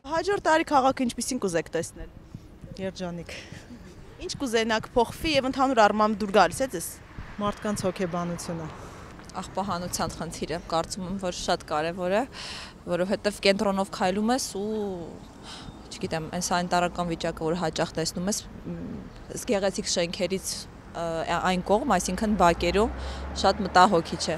Հաջորդ տարի քաղաքը ինչպիսին կուզեք տեսնել։ Երջանիկ։ Ինչ կուզենաք փոխվի եւ ընդհանուր առմամբ դուր գալիս է ձեզ։ Մարդկանց հոգեբանությունը։ Աղբահանության խնդիրը կարծում եմ, որ շատ կարևոր է, որովհետև կենտրոնով քայլում ես ու չգիտեմ, այն սանիտարական վիճակը, որ հաճախ տեսնում ես, գեղեցիկ շենքերից այն կողմ, այսինքն բակերում շատ մտահոգիչ է։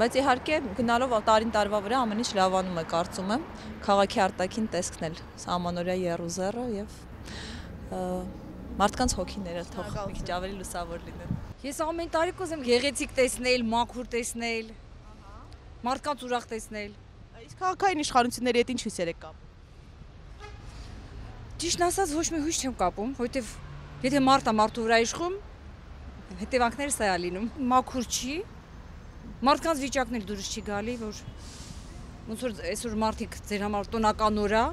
Բայց իհարկե գնալով տարին տարվա վրա ամեն ինչ լավանում է, կարծում եմ, քաղաքի արտաքին տեսքն էլ, սահմանօրյա եռուզեռը եւ մարդկանց հոգիները թող մի քիչ ավելի լուսավոր լինեն։ Ես ամեն տարի կուզեմ գեղեցիկ տեսնել, մաքուր տեսնել, մարդկանց ուրախ տեսնել։ Իսկ քաղաքային իշխանությունների հետ ինչ հույսեր եք կապում։ Ճիշտն ասած ոչ մի հույս չեմ կապում, որովհետև եթե մարդը մարդու վրա իշխում, հետևանքները սա է լինում։ Մաքուր չի, մարդկանց վիճակն էլ դուրս չի գալի, որ ոնց որ այսօր մարդիկ ձեր համար տոնական օր է,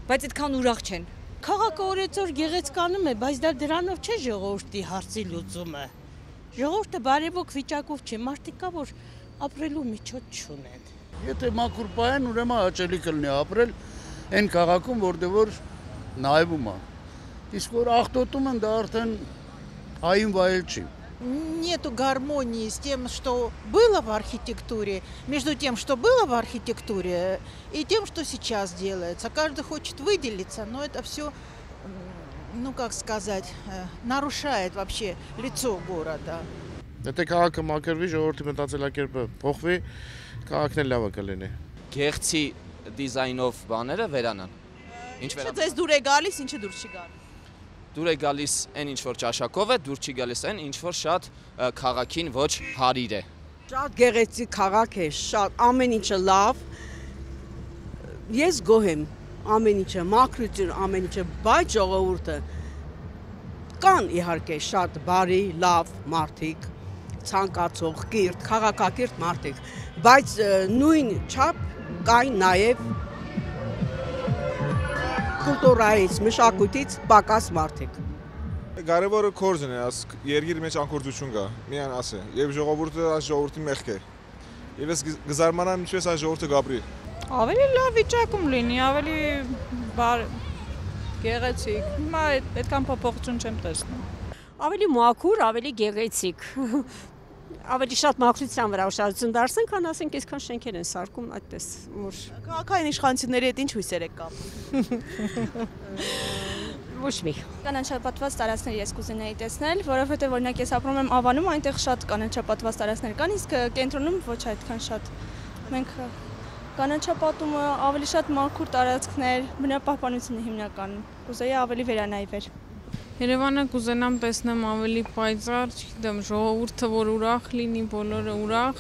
բայց այդքան ուրախ չեն։ Քաղաքը օրեցօր գեղեցկանում է, բայց դա դրանով չէ ժողովրդի հարցի լուծումը։ Ժողովուրդը բարեբոք վիճակով չէ, մարդիկ կա, որ ապրելու միջոց չունեն։ Եթե մաքուր պահեն, ուրեմն հաճելի կլինի апրել այն քաղաքում, որտեղ որ նայվում է։ Իսկ որ աղտոտում են, դա արդեն հային վայել չի։ Нету гармонии с тем, что было в архитектуре, между тем, что было в архитектуре, и тем, что сейчас делается. Каждый хочет выделиться, но это все, ну как сказать, нарушает вообще лицо города. Եթե քաղաքը մաքրվի, ժողովրդի մտածելակերպը փոխվի, քաղաքն էլ լավը կլինի։ Գեղեցի դիզայնով բաները վերանան։ Ինչ վերանան։ Ինչը ձեզ դուր է գալիս, ինչը դուր չի գալիս։ Դուր է գալիս այն ինչ որ ճաշակով է, դուր չի գալիս այն ինչ որ շատ քաղաքին ոչ հարիր է։ Շատ գեղեցիկ քաղաք է, շատ ամեն ինչը լավ։ Ես գոհ եմ, ամեն ինչը մաքրություն, ամեն ինչը, բայց ժողովուրդը կան իհարկե շատ բարի, լավ մարդիկ, ցանկացող, կիրթ, քաղաքակիրթ մարդիկ, բայց նույն չափ կային նաև կուլտուրայից, մշակույթից պակաս մարդիկ։ Կարևորը կորձն է, երկիր մեջ անկորձություն կա, միան ասե, եւ ժողովուրդը այս ժողովրդի մեղք է։ Եվ ես գզարմանամ ինչպես այս ժողովուրդը գաբրի։ Ավելի լավ վիճակում լինի, ավելի գեղեցիկ։ Հիմա այդքան փոփոխություն չեմ տեսնում։ Ավելի մաքուր, ավելի գեղեցիկ։ Ավելի շատ մաքրության վրա ուշադրություն դարձնենք, քան ասենք այսքան շենքեր են սարքում այդպես, որ քաղաքային իշխանությունների հետ ինչ հույսեր եք կապում։ Ոչ մի։ Կանաչապատված տարածքներ ես կուզենայի տեսնել, որովհետև օրինակ ես ապրում եմ Ավանում, այնտեղ շատ կանաչապատված տարածքներ կան, իսկ կենտրոնում ոչ այդքան շատ։ Մենք կանաչապատումը, ավելի շատ մաքուր տարածքներ, բնապահպանությունը հիմնականում։ Կուզեի ավելի վերանայվեր։ Երևանը կուզենամ տեսնեմ ավելի պայծառ, չգիտեմ, ժողովուրդը որ ուրախ լինի, բոլորը ուրախ։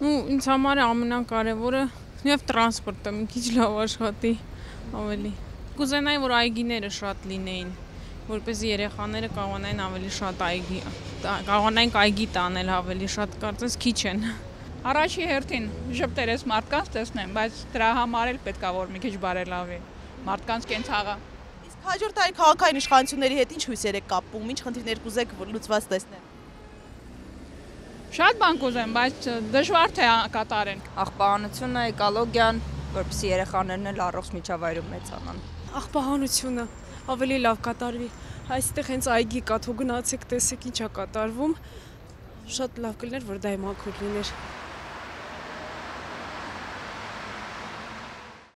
Ու ինձ համար ամենակարևորը նաև տրանսպորտը մի քիչ լավ աշխատի ավելի։ Կուզենայի որ այգիները շատ լինեին, որպեսզի երեխաները կարողանային ավելի շատ կարողանային այգի տանել ավելի շատ, կարծես քիչ են։ Առաջի հերթին ժպտերես մարդկանց տեսնեմ, բայց դրա համար էլ պետք է որ մի քիչ բարելավի մարդկանց կենցաղը։ Հաջորդ տարի քաղաքային իշխանությունների հետ ինչ հույսեր եք կապում, ինչ խնդիրներ կուզեք լուծված տեսնել։ Շատ բան կուզեմ, բայց դժվար թե կատարեն։ Աղբահանությունը, էկոլոգիան, որպեսզի երեխաներն էլ առողջ միջավայրում մեծանան։ Աղբահանությունը ավելի լավ կատարվի։ Այստեղ հենց այգի կա, թող գնացեք տեսեք ինչա կատարվում։ Շատ լավ կլիներ, որ դա մաքուր լիներ։